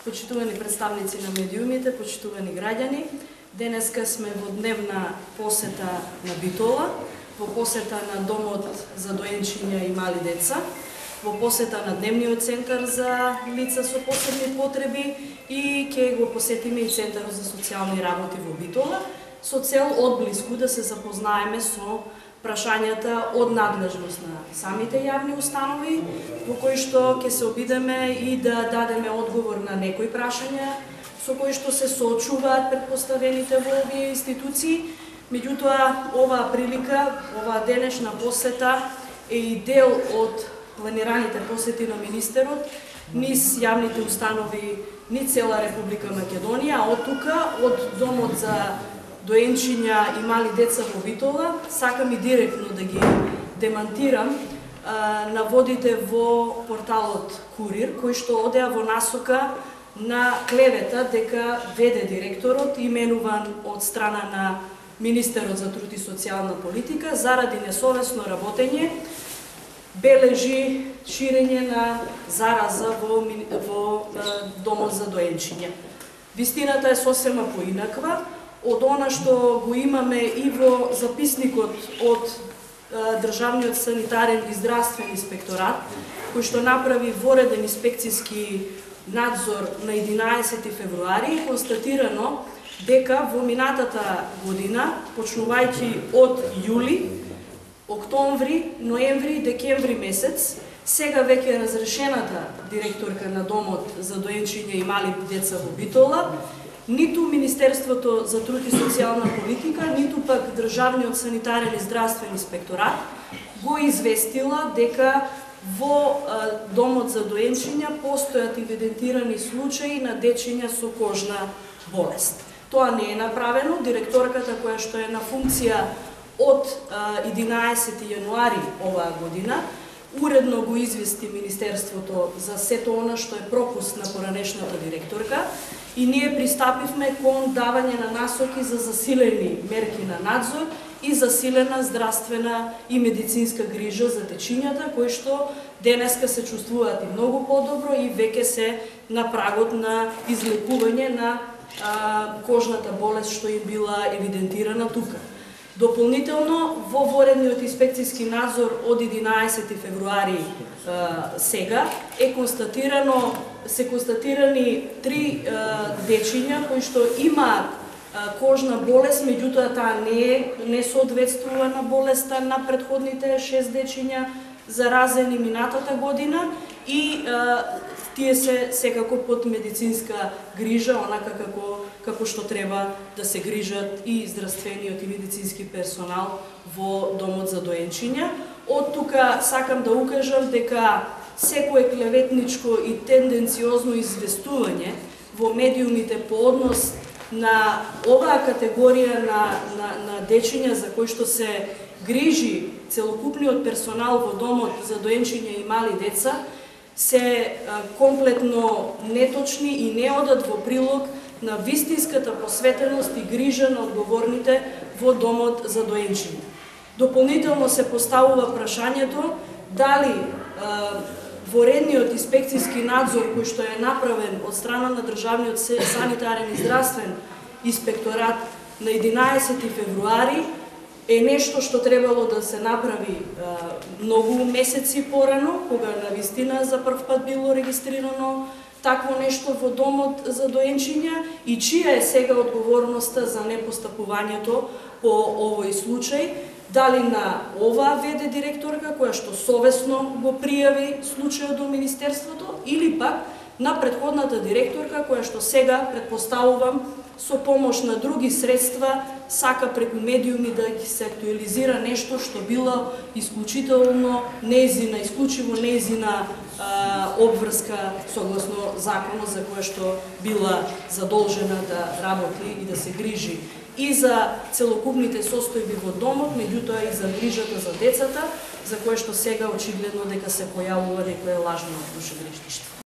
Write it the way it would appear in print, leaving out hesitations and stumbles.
Почитувани представници на медиумите, почитувани граѓани, денеска сме во дневна посета на Битола, во посета на Домот за доенчиња и мали деца, во посета на Дневниот центар за лица со посебни потреби и ќе го посетиме и Центарот за социјални работи во Битола, со цел одблиску да се запознаеме со прашањата од надлежност на самите јавни установи, во кои што ќе се обидеме и да дадеме одговор на некои прашања со кои што се соочуваат предпоставените во овие институции. Меѓутоа, оваа прилика, оваа денешна посета е и дел од планираните посети на министерот низ јавните установи низ цела Република Македонија, а од тука, од Домот за доенчиња и мали деца во Битола, сакам и директно да ги демантирам наводите во порталот Курир, кој што одеа во насока на клевета дека ВД директорот, именуван од страна на Министерот за труд и социјална политика, заради несовесно работење, бележи ширење на зараза во Домот за доенчиња. Вистината е сосема поинаква од она што го имаме и во записникот од Државниот санитарен и здравствен инспекторат, кој што направи вореден инспекцијски надзор на 11 февруари, констатирано дека во минатата година, почнувајќи од јули, октомври, ноември и декември месец, сега веќе разрешената директорка на Домот за доенчиња и мали деца во Битола, ниту Министерството за труд и социјална политика, ниту пак Државниот санитарен и здравствен инспекторат го известила дека во Домот за доенчиња постојат евидентирани случаи на дечиња со кожна болест. Тоа не е направено. Директорката, која што е на функција од 11 јануари оваа година, уредно го извести Министерството за сето она што е пропуст на поранешната директорка и ние пристапивме кон давање на насоки за засилени мерки на надзор и засилена здравствена и медицинска грижа за дечињата, кои што денеска се чувствуваат и многу подобро и веќе се на прагот на излекување на кожната болест што им била евидентирана тука. Дополнително, во воредниот инспекцијски надзор од 11 февруари сега се констатирани 3 дечиња кои што имаат кожна болест, меѓутоа таа не соодветствува на болеста на претходните 6 дечиња заразени минатата година и тие се секако под медицинска грижа, онака како што треба да се грижат и здравствениот и медицински персонал во Домот за доенчиња. Од тука сакам да укажам дека секое клеветничко и тенденциозно известување во медиумите по однос на оваа категорија на дечиња за кои што се грижи целокупниот персонал во Домот за доенчиња и мали деца се комплетно неточни и не одат во прилог на вистинската посветеност и грижа на одговорните во Домот за доенчиња. Дополнително се поставува прашањето дали воредниот инспекцијски надзор кој што е направен од страна на Државниот санитарен и здравствен инспекторат на 11 февруари е нешто што требало да се направи многу месеци порано, кога навистина за прв пат било регистрирано такво нешто во Домот за доенчиња и чија е сега одговорноста за непостапувањето по овој случај, дали на оваа ВД директорка која што совесно го пријави случајот до Министерството или пак на претходната директорка која што сега, предпоставувам, со помош на други средства сака преку медиуми да ги се актуализира нешто што било исклучително исклучиво нејзина обврска согласно законот за која што била задолжена да работи и да се грижи и за целокупните состојби во домот, меѓутоа и за грижата за децата, за кое што сега очигледно дека се појавува некое лажно душегрижништво.